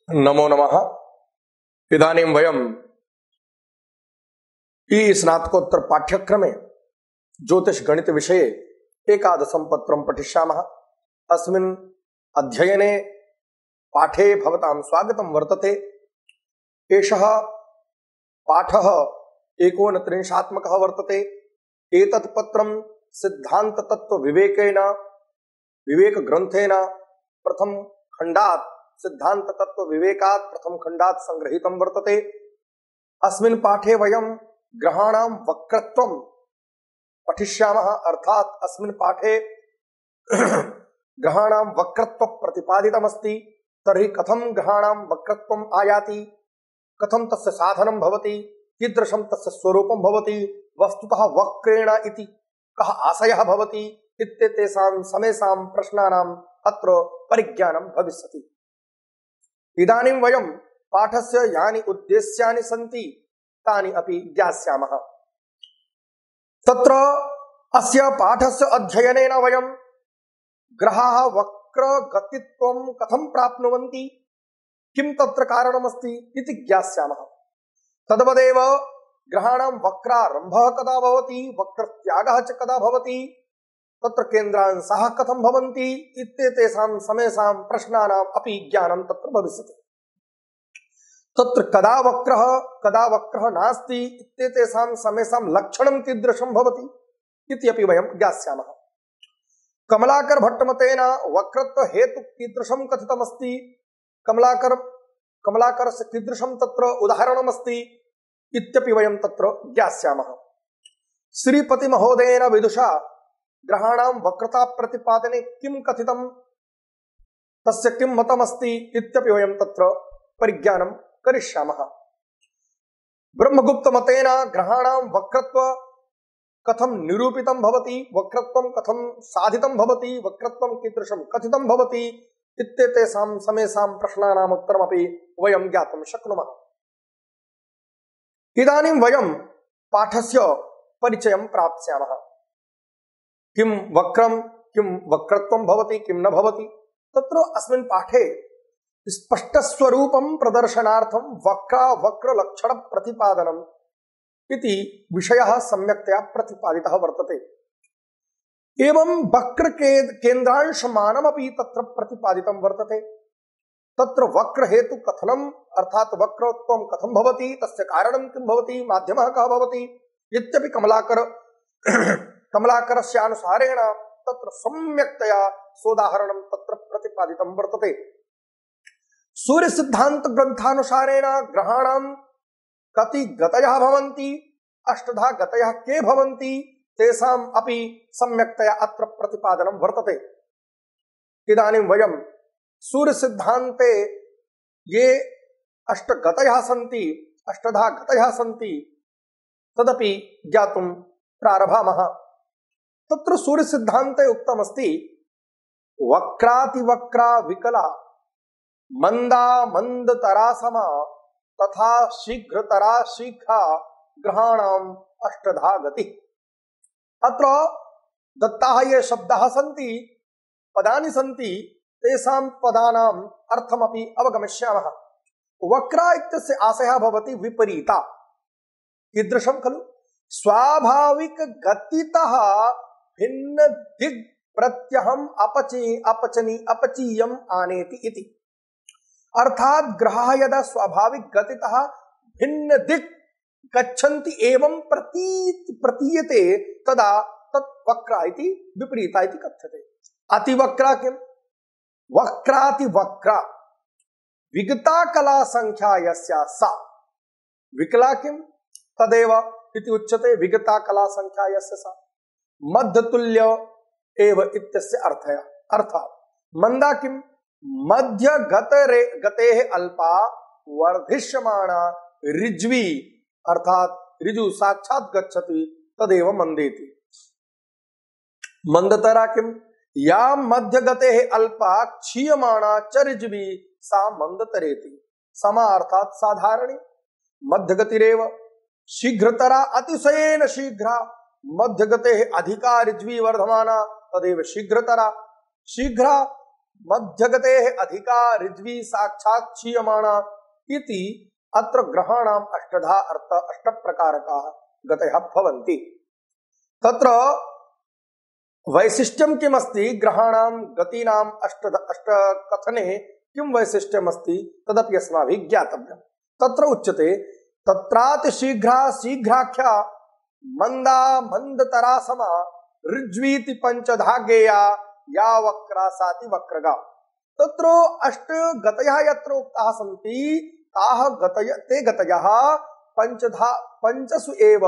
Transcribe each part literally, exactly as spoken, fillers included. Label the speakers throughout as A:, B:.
A: नमो नमः। इदानीं वयम् ई स्नातकोत्तर पाठ्यक्रमे ज्योतिष गणित विषये एकादशं पत्रं पठिष्यामः। अस्मिन् अध्ययने पाठे भवतां स्वागतं वर्तते। एषः पाठः एकोनत्रिंशात्मकः वर्तते। एतत् पत्रं सिद्धान्ततत्त्वविवेकेन विवेकग्रन्थेन प्रथम खण्डात् सिद्धान्ततत्त्वविवेकात् प्रथम खण्डात् संगृहीतं वर्तते। अस्मिन् पाठे वयं ग्रहाणां वक्रत्वं पठिष्यामः। अर्थात् अस्मिन् पाठे ग्रहाणां वक्रत्व प्रतिपादितमस्ति। तर्हि कथं ग्रहाणां वक्रत्वम् आयाति, कथं तस्य साधनं भवति, कीदृशं तस्य स्वरूपं भवति, वस्तुतः वक्रेण इति कः आशयः भवति इत्येतेषां समेषां प्रश्नानाम् अत्र परिज्ञानं भविष्यति। इदानीं वयं पाठस्य यानि उद्देश्यानि सन्ति तानि अपि ज्ञास्यामः। तत्र अस्य पाठस्य अध्ययनेन वयं ग्रहाः वक्रगतित्वं कथं प्राप्नुवन्ति, किं तत्र कारणमस्ति इति ज्ञास्यामः। तद्वदेव ग्रहाणां वक्रारम्भः कदा भवति, वक्रत्यागः च कदा भवति, तत्र केन्द्रांशाः कथं भवन्ति इत्येतेषां समेषां प्रश्नानाम् अपि ज्ञानं तत्र भविष्यति। तत्र कदा वक्रः कदा वक्रः नास्ति इत्येतेषां समेषां लक्षणं कीदृशं भवति इति अपि वयं ज्ञास्यामः। कमलाकर भट्टमतेन वक्रत्व हेतु कीदृशं कथितमस्ति, कमलाकर कमलाकरस्य कीदृशं तत्र उदाहरणमस्ति इत्यपि वयं तत्र ज्ञास्यामः। श्रीपति महोदयेन विदुषा ग्रहाणां वक्रता प्रतिपादने किं कथितं, तस्य किं मतमस्ति इत्यपि वयं तत्र परिज्ञानं करिष्यामः। ब्रह्मगुप्त मतेन ग्रहाणां वक्रत्व कथं निरूपितं भवति, वक्रत्वं कथं साधितं भवति, वक्रत्वं कीदृशं कथितं भवति इत्येतेषां समेषां प्रश्नानाम् उत्तरमपि वयं ज्ञातुं शक्नुमः। इदानीं वयं पाठस्य परिचयं प्राप्स्यामः। किं वक्रं किं वक्रत्वं भवति, किं न भवति, तत्र अस्मिन् पाठे स्पष्टस्वरूपं प्रदर्शनार्थं वक्रा वक्रलक्षण प्रतिपादनम् इति विषयः सम्यक्तया प्रतिपादितः वर्तते। एवं वक्र केन्द्रांशमानमपि तत्र प्रतिपादितं वर्तते। तत्र वक्र हेतु कथनम् अर्थात् वक्रत्वं कथं भवति, तस्य कारणं किं भवति, माध्यमः कः भवति इत्यपि कमलाकर कमलाकरस्य अनुसारेण तत्र सम्यक्तया सोदाहरणं तत्र प्रतिपादितं वर्तते। सूर्य सिद्धांत ग्रंथानुसारेण ग्रहाणां कति गतयः भवन्ति, अष्टधा गतयः के भवन्ति तेषाम् अपि सम्यक्तया अत्र प्रतिपादनं वर्तते। इदानीं वयं सूर्य सिद्धान्ते ये अष्टगतयः सन्ति, अष्टधा गतयः सन्ति तदपि ज्ञातुं प्रारभामः। तत्र सूर्य सिद्धान्ते उक्तमस्ति वक्रातिवक्रा विकला मंदा मंदतरा समा तथा शीघ्रतरा शीघ्रा ग्रहाणाम् अष्टधा गति। अत्र दत्ताः ये शब्दाः सन्ति, पदानि सन्ति, तेषां पदानाम् अर्थमपि अवगमिष्यामः। वक्रा इत्यस्य आशयः भवति विपरीता। कीदृशं खलु, स्वाभाविक गतितः भिन्न दिग् प्रत्यहम् अपची अपचनी अपचीयम् आनेति इति। अर्थात ग्रहाः यदा स्वाभाविक गतितः भिन्न दिक् गच्छन्ति एवं प्रतीत प्रतीयते तदा तत् वक्रा इति विपरीता इति कथ्यते। अतिवक्रा किं, वक्रातिवक्रा विगता कला संख्या यस्या सा, विकला किं तदेव इति उच्यते, विगता कला संख्या यस्य सा, मध्यतुल्य एव इत्यस्य अर्थः। अर्थात् मंदा किं, मध्य गतरे गतेः अल्पा वर्धिष्यमाणा ऋज्वी, अर्थात ऋजु साक्षात् गच्छति तदेव मंदेति। मंदतरा किं, या मध्य गतेः अल्पा क्षीयमाणा च ऋज्वी सा मंदतरेति। समा अर्थात साधारणी, मध्य गतिरेव। शीघ्रतरा अतिशयेन शीघ्रा, मध्य गतेः अधिका ऋज्वी वर्धमाना तदेव शीघ्रतरा। शीघ्रा मध्यगतेः अधिका ऋज्वी साक्षात् क्षीयमाणा इति अत्र ग्रहाणाम् अष्टधा अर्थ अष्टप्रकारकाः गतयः भवन्ति। तत्र वैशिष्ट्यं किमस्ति ग्रहाणां गतीनाम् अष्ट अष्टकथने किं वैशिष्ट्यमस्ति तदपि अस्माभिः ज्ञातव्यम्। तत्र उच्यते तत्रातिशीघ्रा शीघ्राख्या मंदा मंदतरा समा ऋज्वीति पंचधा गेया या वक्रा साति वक्रगा। तत्र अष्ट गतयः यत्र उक्ताः सन्ति ताः गतय ते गतयः पंचधा पंचसु एव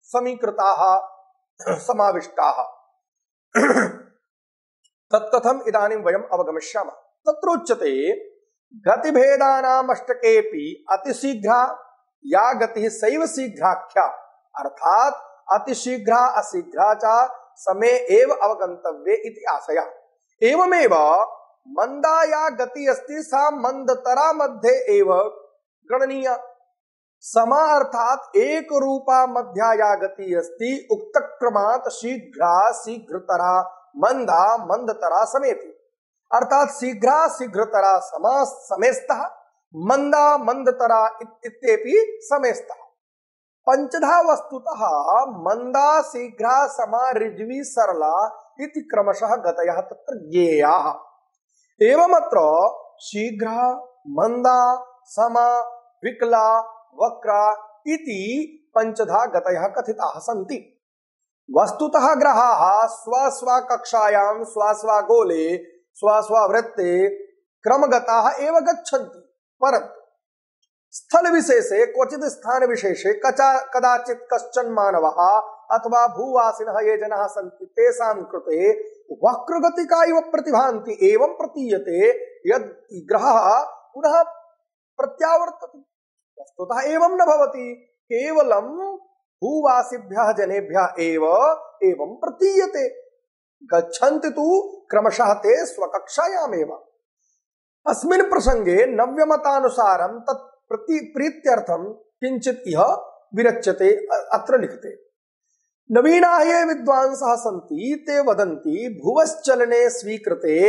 A: समीकृताः समाविष्टाः। तत्कथम् इदानीं वयम् अवगमिष्यामः। तत्र उच्यते गतिभेदानाम् अष्टकेऽपि अतिशीघ्रा या गतिः सैव शीघ्राख्या, अर्थात अतिशीघ्रा अशीघ्रा च समय एव अवगन्तव्ये इति आशयः। एवमेव मंदा या गति अस्ति सा मंदतरा मध्ये एव गणनीया। समा अर्थात एक रूपा मध्या या गति अस्ति उक्तक्रमात् शीघ्रा शीघ्रतरा मंदा मंदतरा समेति, अर्थात शीघ्रा शीघ्रतरा समा समेस्तः मंदा मंदतरा इत्येपि समेस्तः। पंचधा वस्तुतः मंदा शीघ्रा समा ऋज्वी सरला इति क्रमशः गतयः तत्र ज्ञेयाः। एवमत्र शीघ्रा मंदा समा विकला वक्रा इति पंचधा गतयः कथिताः सन्ति। वस्तुतः ग्रहाः स्वस्व कक्षायां स्वस्व गोले स्वस्व वृत्ते क्रमगताः एव गच्छन्ति, परन्तु स्थल विशेषे क्वचित् स्थान विशेषे कचा कदाचित् कश्चन मानवः अथवा भूवासिनः ये जनाः सन्ति तेषां कृते वक्रगतिका इव प्रतिभान्ति। एवं प्रतीयते यद् ग्रहः पुनः प्रत्यावर्तते। वस्तुतः एवं न भवति, केवलं भूवासिभ्यः जनेभ्यः एव एवं प्रतीयते। गच्छन्ति तु क्रमशः ते स्वकक्षायामेव। अस्मिन् प्रसंगे नव्यमतानुसारं तत् प्रति प्रीत्यर्थं किंचित इह विरच्यते। अत्र लिखते नवीनाः ये विद्वांसः सन्ति ते वदन्ति भुवश्चलने स्वीकृते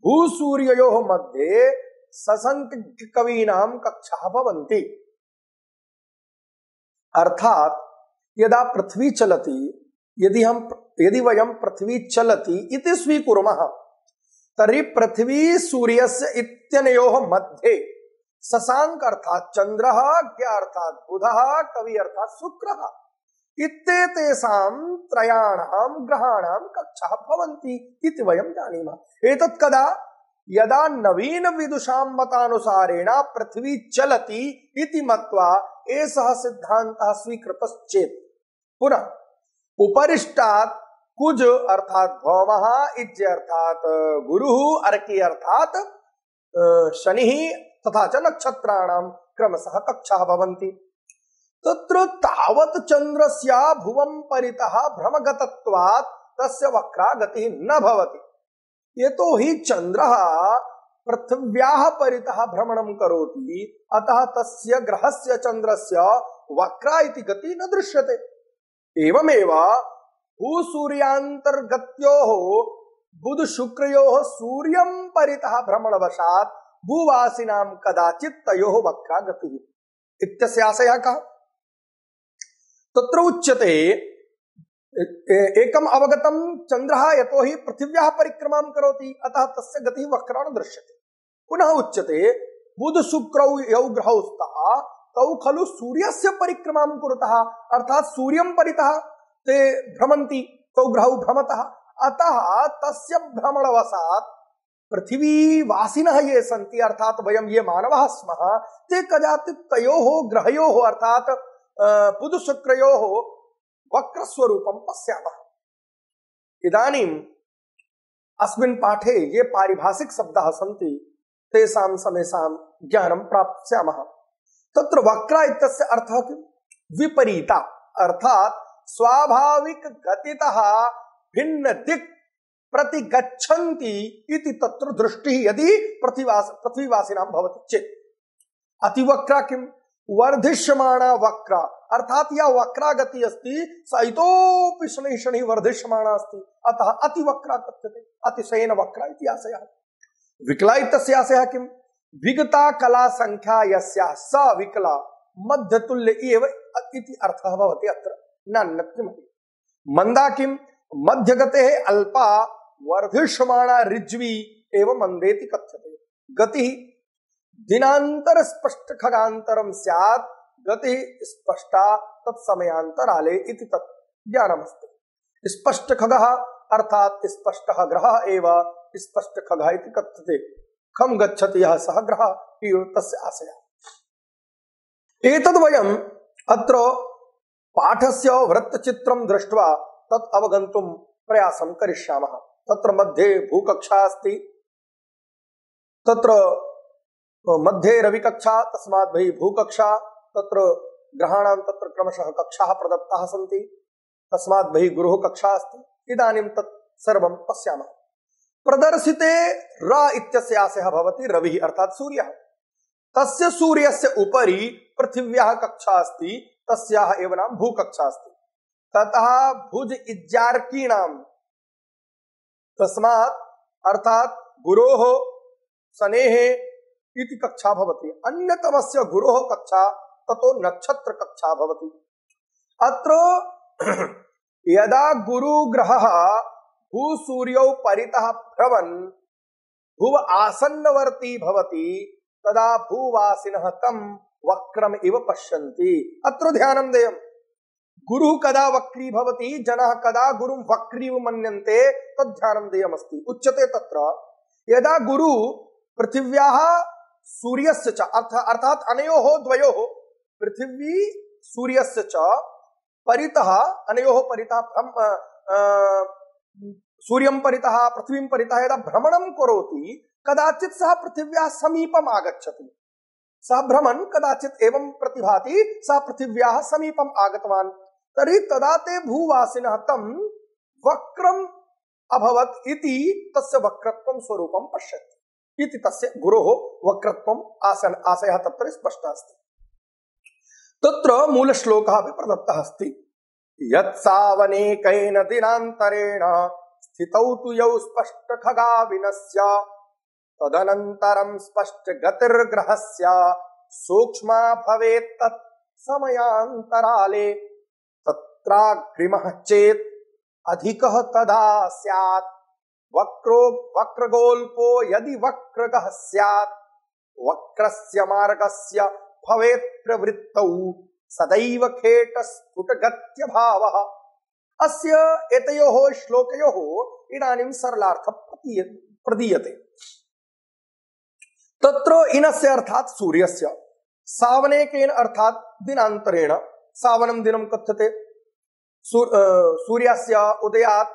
A: भूसूर्ययोः मध्ये ससंख्य कवीनां कक्षाः भवन्ति। अर्थात यदा पृथ्वी चलति, यदि हम यदि वयं पृथ्वी चलति इति स्वीकुर्मः तर्हि पृथ्वी सूर्यस्य इत्यनयोः मध्ये शशांक अर्थात चंद्रः, ज्ञ अर्थात बुधः, कवि अर्थात शुक्रः इत्येतेषां त्रयाणां ग्रहाणां कक्षाः भवन्ति इति वयं जानीमः। एतत् कदा यदा नवीन विदुषां मतानुसारेण पृथ्वी चलति इति मत्वा एषः सिद्धान्तः स्वीकृतश्चेत्। पुनः उपरिष्टात् कुज अर्थात भौमः, इज्ज अर्थात गुरुः, अर्की अर्थात शनिः तथा च नक्षत्राणां क्रमशः कक्षाः भवन्ति। तत्र तावत् चन्द्रस्य भुवं परितः भ्रमगतत्वात् तस्य वक्रा गतिः न भवति। यतोहि चन्द्रः पृथिव्याः परितः भ्रमणं करोति, अतः तस्य ग्रहस्य चन्द्रस्य वक्रा इति गतिः न दृश्यते। एवमेव भूसूर्यान्तर्गत्योः बुध शुक्रयोः सूर्यं परितः भ्रमणवशात् भूवासिनां कदाचित् तयोः वक्रा गतिः इत्यस्य आशयः कः? तत्र उच्यते एकम् अवगतं चन्द्रः यतोहि पृथिव्याः परिक्रमां करोति, अतः तस्य गतिः वक्रा न दृश्यते। पुनः उच्यते बुध शुक्रौ यौ ग्रहौ स्तः तौ खलु सूर्यस्य परिक्रमां कुरुतः, अर्थात सूर्यं परितः ते भ्रमन्ति, तौ ग्रहौ भ्रमतः, अतः तस्य भ्रमणवशात् पृथिवीवासिनः ये सन्ति, अर्थात वयं ये मानवाः स्मः, ते कदाचित् तयोः ग्रहयोः अर्थात बुध शुक्रयोः वक्रस्वरूपं पश्यामः। इदानीम् अस्मिन् पाठे ये पारिभाषिक शब्दाः सन्ति तेषां समेषां ज्ञानं प्राप्स्यामः। तत्र वक्रा इत्यस्य अर्थः किं? विपरीता, अर्थात स्वाभाविक गतितः भिन्न दिक् प्रति गच्छन्ति इति तत्र दृष्टिः यदि पृथ्वीवास पृथ्वीवासिनां भवति चेत्। अतिवक्रा किम्? वर्धिष्यमाणा वक्र, अर्थात यह वक्रा गति अस्ति स इतोपि शनैः शनैः वर्धिष्यमाणा अस्ति, अतः अति वक्रा कथ्यते, अतिशयेन वक्रा इति आशयः। विकला इत्यस्य आशयः किं? विगता कला संख्या यस्याः स विकला मध्यतुल्य एव इति अर्थः भवति अत्र, नान्यत् किमपि। मंदा किं? मध्यगतेः अल्पा वर्धिष्यमाणा ऋज्वी एवं मंदेति कथ्यते। गति दिनांतर स्पष्ट खगांतरम स्यात्, गति स्पष्टा तत्समयांतराले इति तत् ज्ञानमस्ति। स्पष्ट खगः अर्थात स्पष्टः ग्रहः एव स्पष्ट खगः इति कथ्यते। खम गच्छति यः सः ग्रहः इति तस्य आशयः। एतद् वयम् अत्र पाठस्य वृत्तचित्रं दृष्ट्वा तत् अवगन्तुं प्रयासं करिष्यामः। तत्र मध्ये भूकक्षा अस्ति, तत्र मध्ये रविकक्षा, तस्मात् बहिः भूकक्षा, तत्र ग्रहाणां तत्र क्रमशः कक्षाः प्रदत्ताः सन्ति, तस्मात् बहिः गुरुः कक्षा अस्ति। इदानीं तत् सर्वं पश्यामः। प्रदर्शिते र इत्यस्य आशयः भवति रविः अर्थात् सूर्यः। तस्य सूर्यस्य उपरि पृथिव्याः कक्षा अस्ति, तस्याः एव नाम भूकक्षा अस्ति। ततः भुज इज्जार्कीणां, तस्मात् अर्थात् गुरोः शनेः इति कक्षा भवति। अन्यतमस्य गुरोः कक्षा ततो नक्षत्र कक्षा भवति। अत्र यदा गुरुग्रहः भूसूर्यौ परितः भ्रमन् भुव आसन्नवर्ती भवति तदा भूवासिनः तं वक्रम इव पश्यन्ति। अत्र ध्यानं देयम्। गुरुः कदा वक्री भवति, जनाः कदा गुरुं वक्रीव मन्यन्ते, तद् ध्यानं देयमस्ति। उच्यते तत्र यदा गुरु पृथिव्याः सूर्यस्य च अर्थात अनयोः द्वयोः पृथिवी सूर्यस्य च परितः, अनयोः परितः सूर्यं परितः पृथ्वीं परितः यदा भ्रमणं करोति कदाचित् सः पृथिव्याः समीपम् आगच्छति। सः भ्रमन् कदाचित् एवं प्रतिभाति, सः पृथिव्याः समीपम् आगतवान्, तर्हि तदा ते भूवासिनः तं वक्रम् अभवत् इति तस्य वक्रत्वं स्वरूपं पश्यन्ति इति तस्य गुरोः वक्रत्वम् आसन आशयः तत्र स्पष्टः अस्ति। तत्र मूलश्लोकः अपि प्रदत्तः अस्ति। यत्सावनेकैन दिनान्तरेण स्थितौ तु यौ स्पष्ट खगाविनस्य तदनन्तरं स्पष्ट गतिर्ग्रहस्य सूक्ष्मा भवेत् तत् समयान्तराले तत्राग्रिमः चेत् अधिकः तदा स्यात् वक्रो वक्रगोल्पो यदि वक्रगः स्यात् वक्रस्य मार्गस्य भवेत् प्रवृत्तौ सदैव खेटस्फुटगत्यभावः। अस्य एतयोः श्लोकयोः इदानीं सरलार्थः प्रदीयते। तत्र इनस्य अर्थात् सूर्यस्य, सावनेकेन अर्थात् दिनान्तरेण, सावनं दिनं कथ्यते। सूर्यस्य उदयात्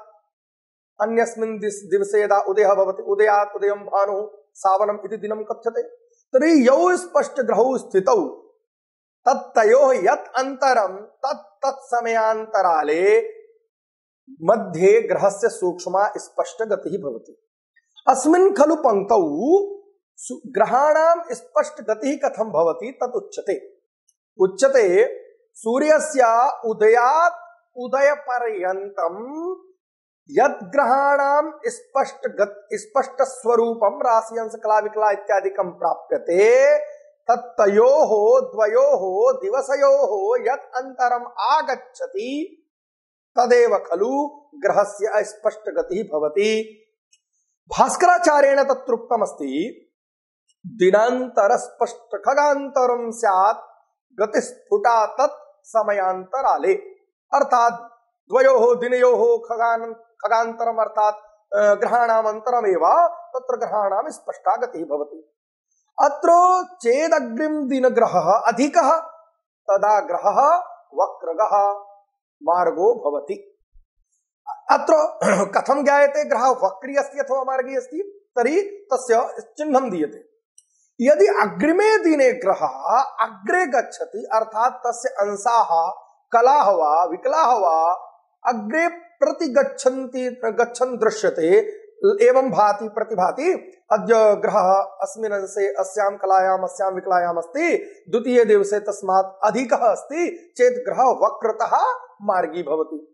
A: अन्यस्मिन् दिवसे यदा उदयः भवति, उदयात् उदयं भानुः सावनम् इति दिनं कथ्यते। तर्हि यौ स्पष्ट ग्रहौ स्थितौ तत्तयोः यत् अन्तरं तत् तत् समयान्तराले मध्ये ग्रहस्य सूक्ष्मा स्पष्ट गतिः भवति। अस्मिन् खलु पंक्तौ ग्रहाणां स्पष्ट गतिः कथं भवति तत् उच्यते। उच्यते सूर्यस्य उदयात् उदयपर्यन्तं यद् ग्रहाणां स्पष्ट स्पष्ट स्वरूपं राशि अंश कला विकला इत्यादिकं प्राप्यते तत्तयोः द्वयोः दिवसयोः यत् अन्तरम् आगच्छति तदेव खलु ग्रहस्य स्पष्ट गतिः भवति। भास्कराचार्येण तत्रोक्तमस्ति दिनांतर स्पष्ट खगांतरं स्यात् गतिस्फुटा तत् समयांतराले। अर्थात द्वयोः दिनयोः खगान खगांतरम अर्थात ग्रहाणाम् अंतरमेव तत्र ग्रहाणां स्पष्टा गतिः भवति। अत्र चेदग्रिम दिनग्रहः अधिकः तदा ग्रहः वक्रगः मार्गो भवति। अत्र कथं ज्ञायते ग्रहः वक्री अस्ति अथवा मार्गी अस्ति? तर्हि तस्य चिह्नं दीयते। यदि अग्रिमे दिने ग्रहः अग्रे गच्छति अर्थात तस्य अंशाः कलाः वा विकलाः वा अग्रे प्रति गच्छन्ति गच्छन् दृश्यते, एवं भाति प्रतिभाति अद्य ग्रहः अस्मिन् अंशे अस्यां कलायाम् अस्यां विकलायाम् अस्ति, द्वितीये दिवसे तस्मात् अधिकः अस्ति चेत् ग्रहः वक्रतः मार्गी भवति।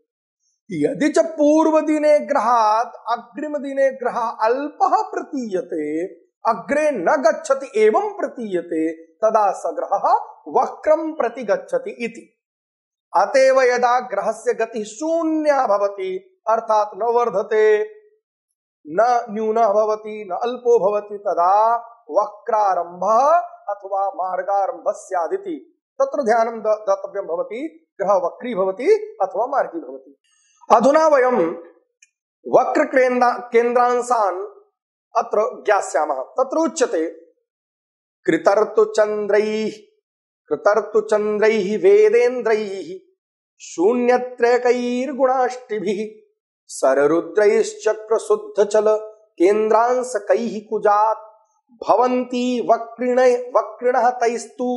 A: यदि च पूर्वदिने ग्रहात् अग्रिमदिने ग्रहः अल्पः प्रतीयते, अग्रे न गच्छति एवं प्रतीयते, तदा स ग्रहः वक्रं प्रति गच्छति इति। अतएव यदा ग्रहस्य गतिः शून्या भवति, अर्थात न वर्धते न न्यूनः भवति न अल्पो भवति, तदा वक्रारंभः अथवा मार्गारंभः स्यादिति। तत्र ध्यानं दातव्यं भवति, ग्रहः वक्री भवति अथवा मार्गी भवति। अधुना वयं वक्र केन्द्रांशान् अत्र ज्ञास्यामः। तत्र उच्यते कृतर्तु चन्द्रैः कृतर्तु चन्द्रैः वेदेन्द्रैः शून्यत्रयकैर्गुणाष्टिभिः सररुद्रैश्चक्र शुद्धचल केन्द्रांशकैः कुजात् भवन्ति वक्रिण वक्रिणः तैस्तु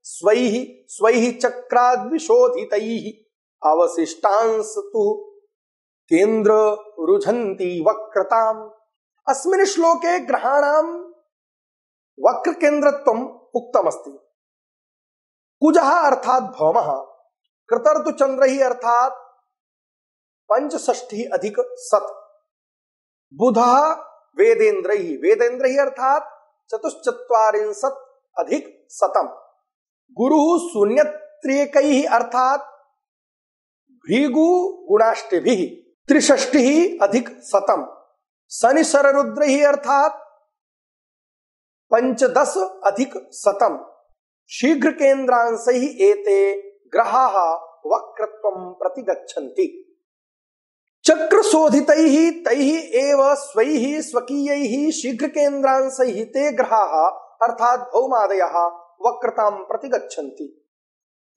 A: स्वैः स्वैः चक्राद्विशोधितैः अवशिष्टांस्तु केन्द्र रुझन्ति वक्रताम्। अस्मिन् श्लोके ग्रहाणां वक्र केन्द्रत्वम् उक्तमस्ति। कुजः अर्थात् भौमः, कृतर्तु चन्द्रैः अर्थात् पंचषष्ठि अधिक सत, बुधः वेदेन्द्रैः वेदेन्द्रैः अर्थात् चतुश्चत्वारिंशत् अधिक शतम, गुरुः शून्यत्रिकैः अर्थात् भृगु गुणाष्टभिः त्रिषष्टिः अधिक शतम, शनि शररुद्रैः अर्थात् पंचदश अधिक शतम। शीघ्र केन्द्रांशैः एते ग्रहाः वक्रत्वं प्रति गच्छन्ति। चक्रशोधितैः तैः एव स्वैः स्वकीयैः शीघ्र केन्द्रांशैः ते ग्रहाः अर्थात् भौमादयः वक्रतां प्रति गच्छन्ति।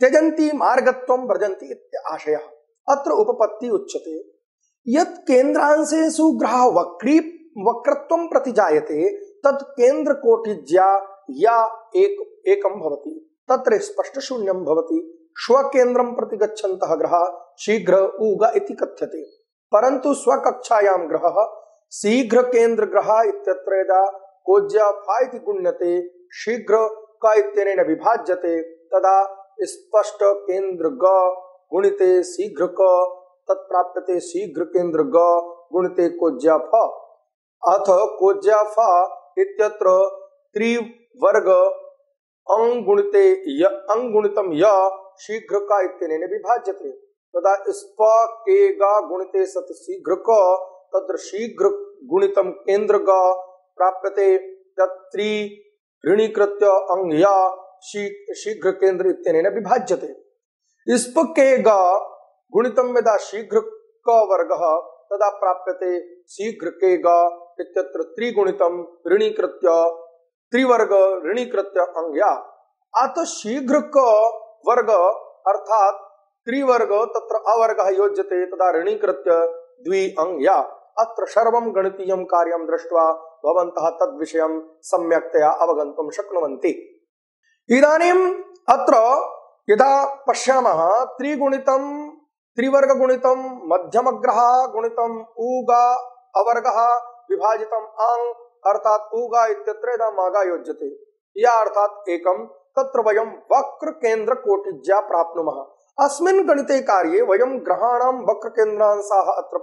A: त्यजन्ति मार्गत्वं व्रजन्ति इत्याशयः। अत्र उपपत्ति उच्यते यत् केन्द्रांशेषु ग्रहः वक्री वक्रत्वं प्रति जायते तत् केन्द्रकोटिज्या या एक एकं भवति, तत्र स्पष्ट शून्यं भवति। स्वकेन्द्रं प्रति गच्छन्तः ग्रहः शीघ्र ऊग इति कथ्यते, परन्तु स्वकक्षायां ग्रहः शीघ्र केन्द्र ग्रहः इत्यत्र यदा कोज्या फा इति गुण्यते शीघ्र क इत्यनेन विभाज्यते, तदा स्पष्ट केन्द्र ग गुणिते शीघ्र क तत्प्राप्यते शीघ्र केन्द्र ग गुणिते कोज्या फ। अथ कोज्या फ इत्यत्र त्रिवर्ग अंगुणिते य अंगुणितं य शीघ्र का इत्यनेन विभाज्यते, तदा स्प के गा गुणिते सत शीघ्र क तत्र शीघ्र गुणितं केन्द्र ग प्राप्यते, तत्रि ऋणीकृत्य अंग य शीघ्र केन्द्र इत्यनेन विभाज्यते। स्प के गा गुणितं यदा शीघ्र क वर्गः तदा प्राप्यते शीघ्र के गा इत्यत्र त्रिगुणितं ऋणीकृत्य त्रिवर्ग ऋणीकृत्य अंग्या। अत शीघ्र क वर्ग अर्थात त्रिवर्ग तत्र अवर्गः योज्यते, तदा ऋणीकृत्य द्वि अंग्या। अत्र सर्वं गणितीयं कार्यं दृष्ट्वा भवन्तः तद्विषयं सम्यक्तया अवगन्तुं शक्नुवन्ति। इदानीम् अत्र यदा पश्यामः त्रिगुणितं त्रिवर्गगुणितं मध्यमग्रहः गुणितं ऊगा अवर्गः विभाजितं आंग अर्थात ऊगा इत्यत्र यदा मागा योज्यते या अर्थात एकम, तत्र वयं वक्र केन्द्र कोटिज्या प्राप्नुमः। अस्मिन् गणिते कार्ये वयं ग्रहाणां वक्र केन्द्रांशाः अत्र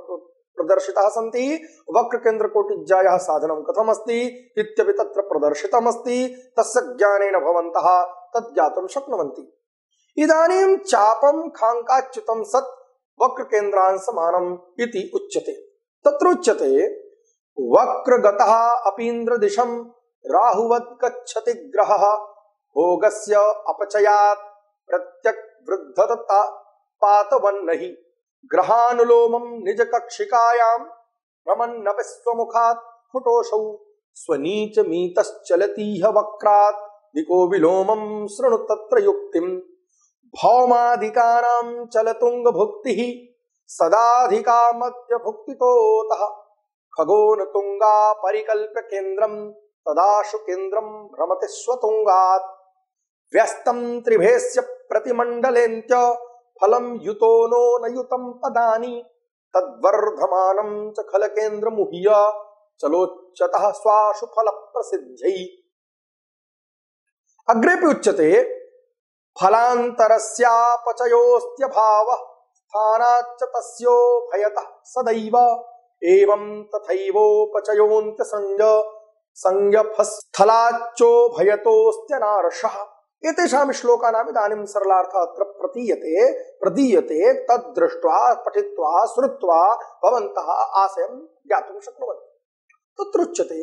A: प्रदर्शिताः सन्ति। वक्र केन्द्र कोटिज्यायाः साधनं कथमस्ति इत्यपि तत्र प्रदर्शितमस्ति। तस्य ज्ञानेन भवन्तः तत् ज्ञातुं शक्नुवन्ति। इदानीं चापं खाङ्काच्युतं सत् वक्र केन्द्रांशमानम् इति उच्यते। तत्र उच्यते वक्रगतः अपीन्द्रदिशं राहुवत् गच्छति ग्रहः भोगस्य अपचयात् प्रत्यग्वृद्धता पातवन्नहि ग्रहानुलोमं निजकक्षिकायां रमन्नपि स्वमुखात् फुटोषौ स्वनीचमीतश्चलतीह वक्रात् दिको विलोमं शृणु तत्र युक्तिं भौमाधिकानां चलतुङ्गभुक्तिः सदाधिका मध्यभुक्तितोतः खगोन तुंगा परिकल्प्य केन्द्रं तदाशु केन्द्रं भ्रमति स्वतुंगात् व्यस्तं त्रिभेस्य प्रतिमण्डलेन्त्य फलं युतो नो न युतं पदानि तद्वर्धमानं च खलकेन्द्रमुह्य चलोच्यतः स्वाशु फल प्रसिद्ध्यै। अग्रेपि उच्यते फलान्तरस्यापचयोऽस्त्यभावः स्थानाच्च तस्यो भयतः सदैव एवं तथैवोपचयोऽन्त्यसंज्ञ संज्ञस्थलाच्चो भयतोऽस्त्यनार्षः। एतेषां श्लोकानाम् इदानीं सरलार्थः अत्र प्रतीयते प्रदीयते। तद्दृष्ट्वा पठित्वा श्रुत्वा भवन्तः आशयं ज्ञातुं शक्नुवन्ति। तत्र उच्यते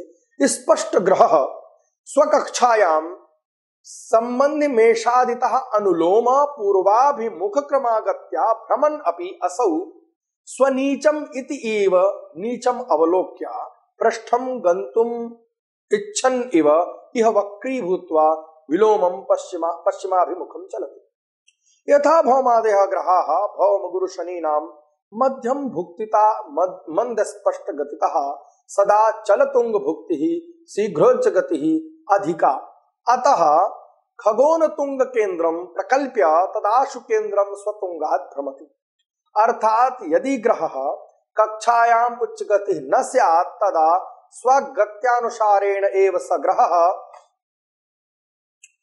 A: स्पष्टग्रहः स्वकक्षायां सम्बन्धिमेषादितः अनुलोम पूर्वाभिमुखक्रमागत्या भ्रमन् अपि असौ स्वनीचम् इति एव नीचम् अवलोक्य पृष्ठं गन्तुम् इच्छन् इव इह वक्रीभूत्वा विलोमं पश्चिमा पश्चिमाभिमुखं चलति। यथा भौमादयः ग्रहाः भौमगुरुशनीनां मध्यम भुक्तिता मंदस्पष्टगतितः सदा चलतुंगभुक्तिः शीघ्रोच्चगतिः अधिका, अतः खगोनतुंग केंद्रम प्रकल्प्य तदाशु केंद्रम स्वतुंगात् भ्रमति। अर्थात यदि ग्रहः कक्षायाम उच्च गति न स्यात् तदा स्वगत्यानुसारेण एव स ग्रहः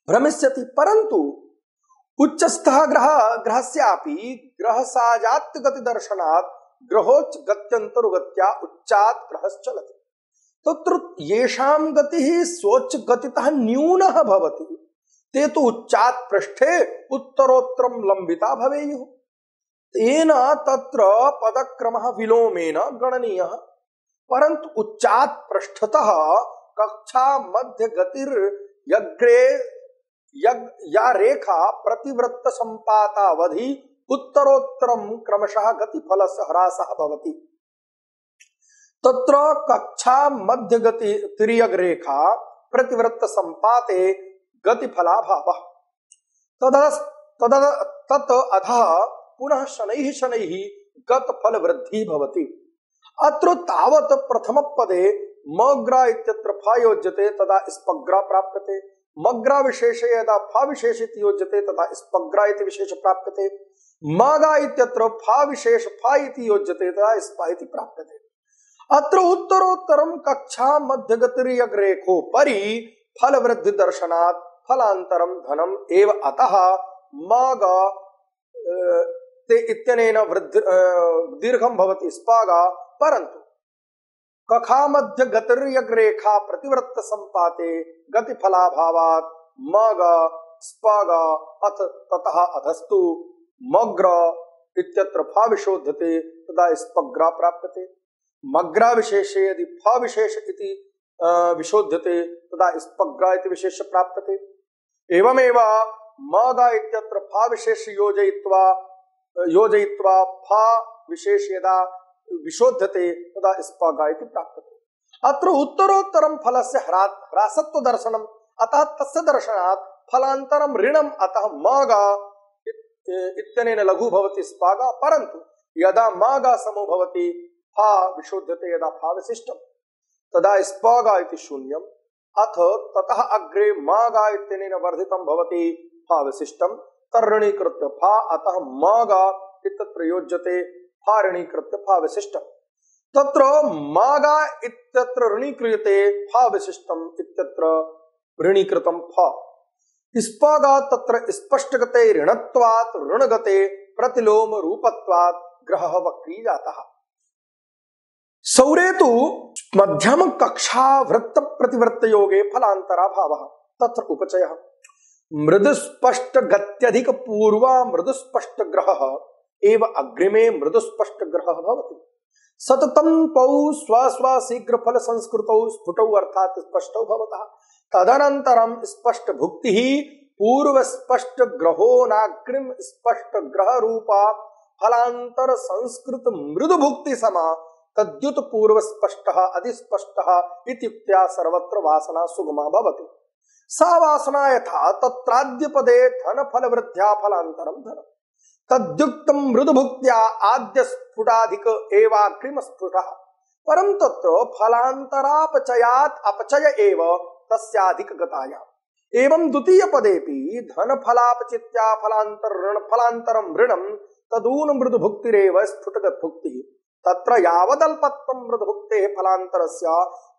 A: भ्रमिष्यति, परंतु उच्चस्थः ग्रह ग्रहस्यापि ग्रहसाजात्य गति दर्शनात् ग्रहोच्च गत्यन्तरुगत्या उच्चात् ग्रहश्चलति। तत्र येषां गतिः स्वोच्च गतितः न्यूनः भवति ते तु उच्चात् पृष्ठे उत्तरोत्तरं लंबिता भवेयुः। तेन तत्र पदक्रमः विलोमेन गणनीयः, परन्तु उच्चात् पृष्ठतः कक्षा मध्य गतिर्यग्रे या रेखा प्रतिवृत्त संपातावधि उत्तरोत्तरं क्रमशः गतिफलस्य ह्रासः भवति। तत्र कक्षा मध्य गति तिर्यग् रेखा प्रतिवृत्त संपाते गतिफलाभावः तत् अधः पुनः शनैः शनैः गतफल वृद्धि भवति। अत्र तावत् प्रथम पदे मग्रा इत्यत्र फा योज्यते तदा स्पग्रा प्राप्यते। मग्रा विशेषे यदा फा विशेष इति योज्यते तदा स्पग्रा इति विशेष प्राप्यते। मागा इत्यत्र फा विशेष फा इति योज्यते तदा स्पा इति प्राप्यते। अत्र उत्तरोत्तरं कक्षा मध्यगतिर्यग्रेखोपरि फल वृद्धि दर्शनात् फलान्तरं धनम् एव, अतः मागा ते इत्यनेन वृद्धि दीर्घं भवति स्पागा, परन्तु कखा मध्य गतिर्यग्रेखा प्रतिवृत्त संपाते गतिफलाभावात् मागा स्पागा अथ ततः अधस्तु मग्र इत्यत्र फा विशोध्यते तदा स्पग्रा प्राप्यते। मग्रा विशेषे यदि फा विशेष इति विशोध्यते तदा स्पग्रा इति विशेष प्राप्यते। एवमेव मागा इत्यत्र फा विशेष योजयित्वा योजयित्वा फा विशेष यदा विशोध्यते तदा स्पगा इति प्राप्यते। अत्र उत्तरोत्तरं फलस्य ह्रासत्व दर्शनम्, अतः तस्य दर्शनात् फलान्तरं ऋणम्, अतः मागा इत्यनेन लघु भवति स्पागा, परन्तु यदा मागा समो भवति फा विशोध्यते यदा फा विशिष्टं तदा स्पागा इति शून्यम्, अथ ततः अग्रे मागा इत्यनेन वर्धितं भवति फा विशिष्टं तर्रणीकृत्य फा, अतः मागा इत्यत्र योज्यते फा ऋणीकृत्य फा विशिष्टं। तत्र मागा इत्यत्र ऋणीक्रियते फा विशिष्टम् इत्यत्र ऋणीकृतं फा। स्पागा तत्र स्पष्टगते ऋणत्वात् ऋणगते प्रतिलोम रूपत्वात् ग्रहः वक्री जातः। सौरे तु मध्यम कक्षा वृत्त प्रतिवृत्त योगे फलान्तराभावः तत्र उपचयः। मृदुस्पष्ट गत्यधिक पूर्वा मृदुस्पष्ट ग्रहः एव अग्रिमे मृदुस्पष्ट ग्रहः भवति। सततं तौ स्वस्व शीघ्र फल संस्कृतौ स्फुटौ अर्थात स्पष्टौ भवतः। तदनन्तरं स्पष्ट भुक्तिः पूर्व स्पष्ट ग्रहो नाग्रिम स्पष्ट ग्रह रूपा फलांतर संस्कृत मृदु भुक्ति समा तद्युत पूर्व स्पष्टः अधिस्पष्टः इत्युक्त्या सर्वत्र वासना सुगमा भवति। सा वासना यथा तत्राद्य पदे धन फल वृद्ध्या फलांतरं धन तद्युक्तं मृदु भुक्त्या आद्य स्फुटाधिक एवाग्रिम स्फुटः, परं तत्र फलांतरापचयात् अपचय एव तस्याधिक गतायाम्। एवं द्वितीय पदेपि धन फलापचित्या फलांतर ऋण फलांतरं ऋणं तदून मृदु भुक्तिरेव स्फुटगत भुक्तिः तत्र यावदल्पत्वं मृदुभुक्तेः फलान्तरस्य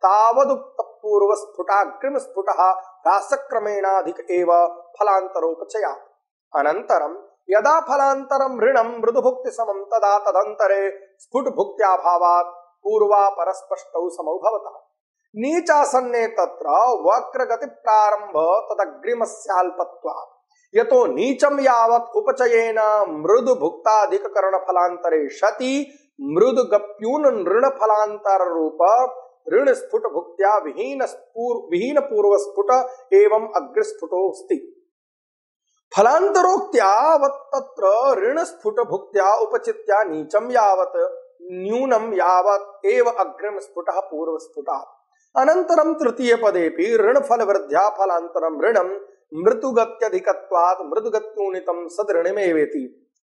A: तावदुक्त पूर्वस्फुटाग्रिमस्फुटः रासक्रमेणाधिक एव फलान्तरोपचयात्। अनन्तरं यदा फलान्तरं ऋणं मृदुभुक्तिसमं तदा तदन्तरे स्फुटभुक्त्याभावात् पूर्वापरस्पष्टौ समौ भवतः। नीचासन्ने तत्र वक्रगतिप्रारम्भ तदग्रिमस्याल्पत्वात्। यतो नीचं यावत् उपचयेन मृदुभुक्ताधिककरणफलान्तरे सति मृदुगप्यून ऋणफलान्तररूप ऋणस्फुटभुक्त्या विहीन विहीन पूर्वस्फुट एवं अग्रस्फुटोऽस्ति। फलान्तरोक्त्या तत्र ऋणस्फुटभुक्त्या उपचित्या नीचं यावत् न्यूनं यावत् एव अग्रिमस्फुटः पूर्वस्फुटात्। अनन्तरं तृतीय पदेपि ऋणफलवृद्ध्या फलान्तरं ऋणं मृदुगत्यधिकत्वात् मृदुगत्यूनितं सदृणमेवेति।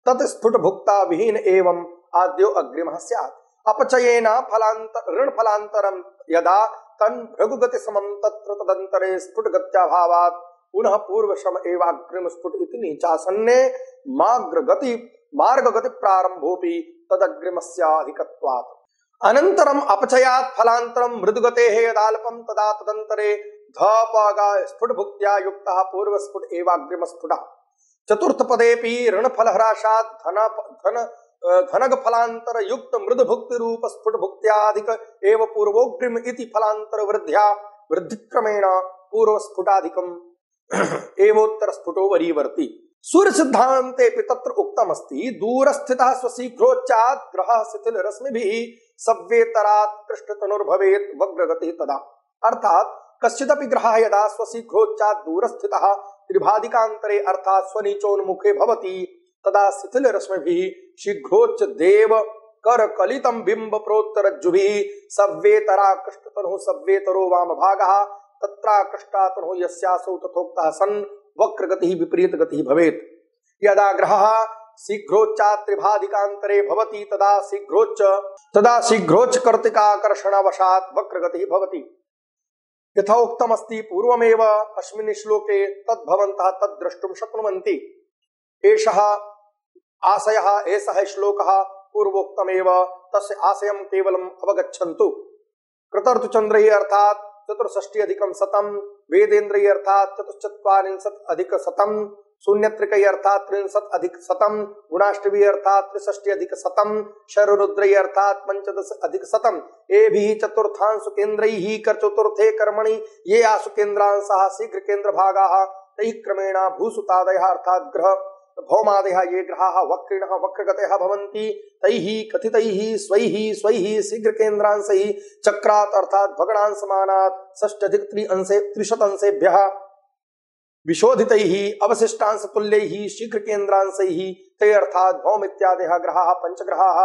A: तत् स्फुटभुक्ता विहीन एवं आद्यो अग्रिमः स्यात्। अपचयेन फलान्त ऋणफलान्तरं यदा तन् भृगुगतिसमं तत्र तदन्तरे स्फुटगत्याभावात् पुनः पूर्वशम एव अग्रिमस्फुट इति नीचासन्ने मार्गगति मार्गगति प्रारम्भोऽपि तदग्रिमस्याधिकत्वात्। अनन्तरम् अपचयात् फलान्तरं मृदुगतेः यदाल्पं तदा तदन्तरे धपगा स्फुटभुक्त्या युक्तः पूर्वस्फुट एवाग्रिमस्फुटः। चतुर्थ पदेपि ऋणफलह्रासात् धन धन धनगफलान्तर युक्त मृदुभुक्ति रूप स्फुटभुक्त्याधिक एव पूर्वोग्रिम इति फलान्तर वृद्ध्या वृद्धिक्रमेण पूर्वस्फुटाधिकम् एवोत्तरस्फुटो वरीवर्ति। सूर्य सिद्धान्ते तत्र उक्तमस्ति दूरस्थितः स्वशीघ्रोच्चात् ग्रहः शिथिलरश्मिभिः सव्येतरात् कृष्णतनुर्भवेत् वग्रगतिः तदा। अर्थात कश्चिदपि ग्रहः यदा स्वशीघ्रोच्चात् दूरस्थितः त्रिभादिकान्तरे अर्थात स्वनीचोन्मुखे भवति तदा शिथिलरश्मिभिः शीघ्रोच्च देव करकलितं बिम्ब प्रोत्तरज्जुभिः सव्येतरा कृष्णतनुः सव्येतरो वामभागः तत्राकृष्टातनुः यस्यासौ तथोक्तः सन् वक्रगतिः विपरीतगतिः भवेत्। यदा ग्रहः शीघ्रोच्चात् त्रिभादिकान्तरे भवति तदा शीघ्रोच्च तदा शीघ्रोच्च कर्तिकाकर्षणवशात् वक्रगतिः भवति। यथा उक्तमस्ति पूर्वमेव अस्मिन् श्लोके तद्भवन्तः तद्द्रष्टुं शक्नुवन्ति। एषः आशयः एषः श्लोकः पूर्वोक्तमेव तस्य आशयं केवलम् अवगच्छन्तु। कृतर्तुचन्द्रैः अर्थात् चतुष्षष्टि अधिकं शतं, वेदेन्द्रैः अर्थात् चतुश्चत्वारिंशत् अधिक शतं, शून्यत्रिकैः अर्थात् त्रिंशत् अधिक शतं, गुणाष्टभिः अर्थात् त्रिषष्टि अधिक शतं, शररुद्रैः अर्थात् पंचदश अधिक शतं। एभिः चतुर्थांशु केन्द्रैः कर चतुर्थे कर्मणि ये आसु केन्द्रांशाः शीघ्र केन्द्रभागाः तैः क्रमेण भूसुतादयः अर्थात् ग्रह भौमादयः ये ग्रहाः वक्रिणः वक्रगतयः भवन्ति तैः कथितैः स्वैः स्वैः शीघ्र केन्द्रांशैः चक्रात् अर्थात् भगणांशमानात् षष्ट्यधिक त्रिअंशे त्रिशत अंशेभ्यः विशोधितैः अवशिष्टांश तुल्यैः शीघ्र केन्द्रांशैः ते अर्थात् भौम इत्यादयः ग्रहाः पंचग्रहाः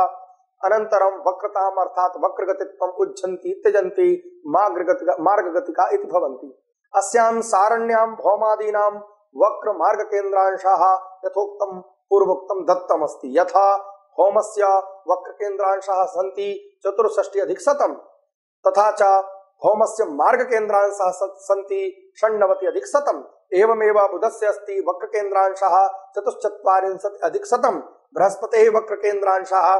A: अनन्तरं वक्रताम् अर्थात् वक्रगतित्वम् उज्झन्ति त्यजन्ति मार्गगतिका मार्गगतिका इति भवन्ति। अस्यां सारण्यां भौमादीनां वक्र मार्ग केन्द्रांशाः यथोक्तं पूर्वोक्तं दत्तमस्ति। यथा भौमस्य वक्र केन्द्रांशाः सन्ति चतुष्षष्टि अधिक शतं तथा च भौमस्य मार्ग केन्द्रांशाः सन्ति षण्णवति अधिक शतं। एवमेव बुधस्य अस्ति वक्र केन्द्रांशाः चतुश्चत्वारिंशत् अधिक शतं, बृहस्पतेः वक्र केन्द्रांशाः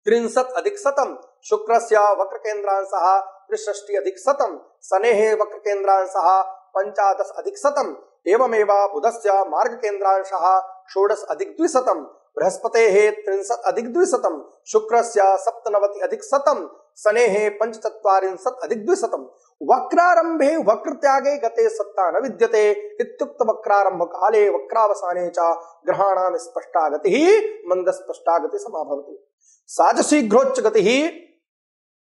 A: त्रिंशत् अधिक शतं, शुक्रस्य वक्र केन्द्रांशाः त्रिषष्टि अधिक शतं, शनेः वक्र केन्द्रांशाः पंचादश अधिक शतं। एवमेव बुधस्य मार्ग केन्द्रांशाः षोडश अधिक द्विशतं, बृहस्पतेः त्रिंशत् अधिक द्विशतं, शुक्रस्य सप्तनवति अधिक शतं, शनेः पंचचत्वारिंशत् अधिक द्विशतं। वक्रारंभे वक्रत्यागे गते सत्ता न विद्यते इत्युक्त वक्रारंभ काले वक्रावसाने च ग्रहाणां स्पष्टा गतिः मंदस्पष्टा गति समाभवति। सा च शीघ्रोच्च गतिः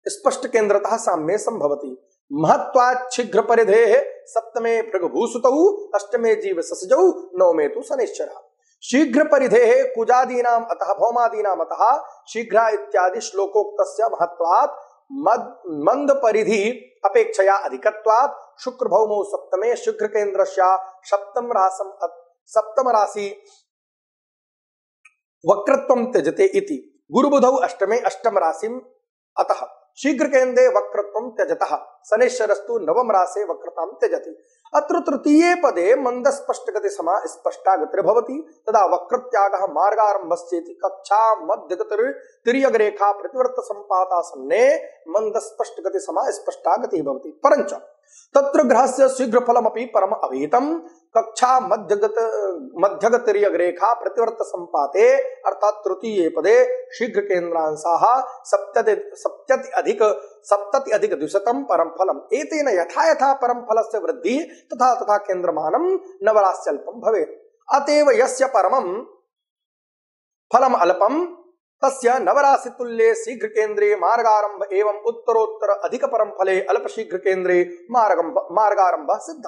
A: स्पष्ट केन्द्रतः साम्ये संभवति। महत्वात् शीघ्र परिधेः सप्तमे भृगभूसुतौ अष्टमे जीव ससजौ नवमे तु शनिश्चरः। शीघ्र परिधेः कुजादीनाम् अतः भौमादीनाम् अतः शीघ्र इत्यादि श्लोकोक्तस्य महत्वात् मंद परिधि अपेक्षया अधिकत्वात् शुक्र भौमौ सप्तमे शीघ्र केन्द्रस्य सप्तम रासम सप्तम राशि वक्रत्वं त्यजते इति। गुरुबुधौ अष्टमे अष्टम राशिम् अतः शीघ्र केन्द्रे वक्रत्वं त्यजतः। शनिश्चरस्तु नवम राशे वक्रतां त्यजति। अत्र तृतीये पदे मन्दस्पष्टगति समा स्पष्टा गतिर्भवति तदा वक्रत्यागः मार्गारम्भश्चेति कक्षा मध्यगतिर् तिर्यग्रेखा प्रतिवर्त सम्पातासन्ने मन्दस्पष्टगति समा स्पष्टा गतिः भवति। परञ्च तत्र ग्रहस्य शीघ्रफलमपि परम अभीतम् कक्षा मध्यगत मध्यगतिर्यग्रेखा प्रतिवर्त सम्पाते अर्थात तृतीये पदे शीघ्र केन्द्रांशाः सप्तति सप्तति अधिक सप्तति अधिक द्विशतं परम फलम् एतेन यथा यथा परम फलस्य वृद्धि तथा तथा केन्द्रमानं नवरास्यल्पं भवेत्। अतएव यस्य परमं फलम् अल्पं तस्य नवराशि तुल्ये शीघ्र केन्द्रे मार्गारंभ एवं उत्तरोत्तर अधिक परम फले अल्प शीघ्र केन्द्रे मार्गंभ मार्गारंभ सिद्ध।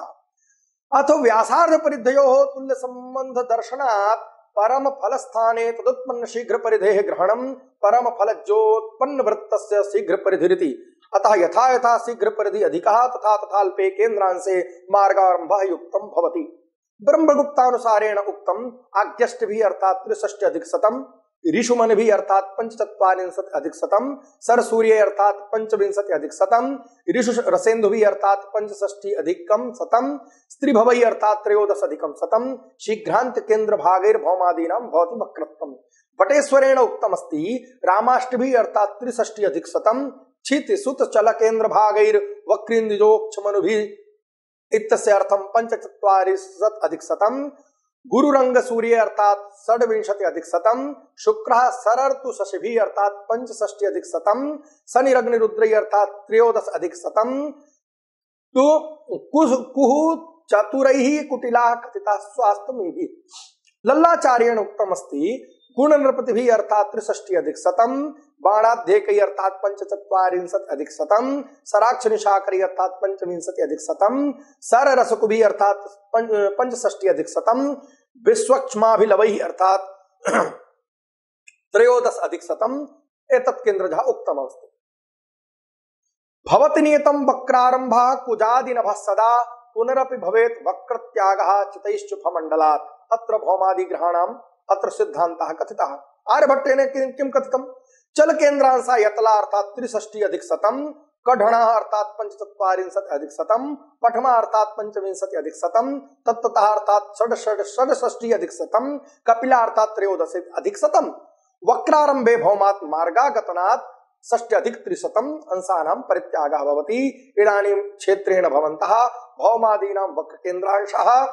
A: अथो व्यासार्ध परिधयोः तुल्य संबंध दर्शनात् परम फल स्थाने तदुत्पन्न शीघ्र परिधेः ग्रहणं परम फलज्योत्पन्न वृत्तस्य शीघ्र परिधिरिति। अतः यथा यथा शीघ्र परिधि अधिकः तथा तथा अल्पे केन्द्रांशे मार्गारंभः युक्तं भवति। ब्रह्मगुप्तानुसारेण उक्तम् आज्ञष्टभिः अर्थात् त्रिषष्टि अधिक शतम्, ऋषुमनिभिः अर्थात पंचचत्वारिंशत् अधिक शतम्, सरसूर्ये अर्थात पंचविंशति अधिक शतम्, ऋषु रसेन्दुभिः अर्थात पंचषष्टि अधिकं शतम्, स्त्रीभवैः अर्थात त्रयोदश अधिकं शतम्, शीघ्रान्त केन्द्र भागैर्भौमादीनां भवति वक्रत्वम्। वटेश्वरेण उक्तमस्ति रामाष्टभिः अर्थात त्रिषष्टि अधिक शतम्, क्षित सुत चल केन्द्र भागैर्वक्रीन्द्रिजोक्षमनुभिः इत्यस्य अर्थं पंचचत्वारिंशत् अधिक शतम्, गुरुरंग सूर्य अर्थात षड्विंशति अधिक शतम्, शुक्रः सरर्तु शशिभिः अर्थात पंचषष्टि अधिक शतम्, शनिरग्निरुद्रैः अर्थात त्रयोदश अधिक शतम्, तो कुहु चतुरैः कुटिलाः कथिताः स्वास्थ्यमेभिः। लल्लाचार्येण उक्तमस्ति गुणनृपतिभिः अर्थात त्रिषष्टि अधिक शतम्, बाणाध्येकैः अर्थात पंचचत्वारिंशत् अधिक शतम्, सराक्षनिशाकरैः अर्थात पंचविंशति अधिक शतम्, सररसकुभिः अर्थात पंचषष्टि अधिक शतम्, विश्वक्ष्माभिलवैः अर्थात त्रयोदश अधिक शतम् एतत् केन्द्रजः उक्तमस्ति। भवति नियतं वक्रारम्भः कुजादिनभः सदा पुनरपि भवेत् वक्रत्यागः चितैश्चुफमण्डलात्। अत्र भौमादिग्रहाणाम् अत्र सिद्धान्तः कथितः। आर्यभट्टेन किं कथितम्? चल केन्द्रांशा यतला अर्थात त्रिषष्टि अधिक शतम्, कढणः अर्थात पंचचत्वारिंशत् अधिक शतम्, पठमा अर्थात पंचविंशति अधिक शतम्, तत्ततः अर्थात षड्षष्टि अधिक शतम्, कपिला अर्थात त्रयोदश अधिक शतम्, वक्रारंभे भौमात् मार्गागतनात् षष्ट्यधिक त्रिशतम् अंशानां परित्यागः भवति। इदानीं क्षेत्रेण भवन्तः भौमादीनां वक्रकेन्द्रांशः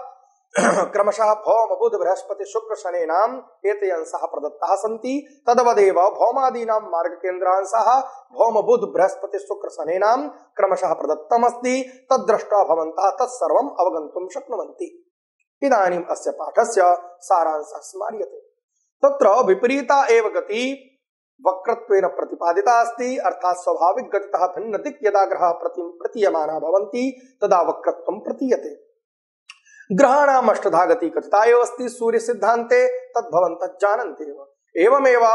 A: क्रमशः भौम बुध बृहस्पति शुक्र शनेनाम् एते अंशाः प्रदत्ताः सन्ति। तद्वदेव भौमादीनां मार्गकेन्द्रांशः भौम बुध बृहस्पति शुक्र शनेनां क्रमशः प्रदत्तमस्ति। तद्दृष्ट्वा भवन्तः तत्सर्वम् अवगन्तुं शक्नुवन्ति। इदानीम् अस्य पाठस्य सारांशः स्मार्यते। तत्र विपरीता एव गति वक्रत्वेन प्रतिपादिता अस्ति, अर्थात् स्वाभाविक गतितः भिन्न दिक् यदा ग्रहः प्रतीयमाना भवन्ति तदा वक्रत्वं प्रतीयते। ग्रहाणाम् अष्टधा गति कथिता एव अस्ति सूर्य सिद्धान्ते, तद्भवन्तः जानन्ति एव। एवमेव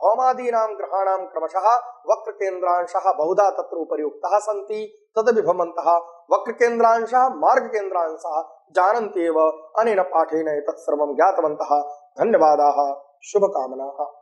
A: भौमादीनां ग्रहाणां क्रमशः वक्रकेन्द्रांशः बहुधा तत्र उपर्युक्ताः सन्ति, तदपि भवन्तः वक्रकेन्द्रांशः मार्गकेन्द्रांशः जानन्ति एव। अनेन पाठेन एतत् सर्वं ज्ञातवन्तः। धन्यवादाः, शुभकामनाः।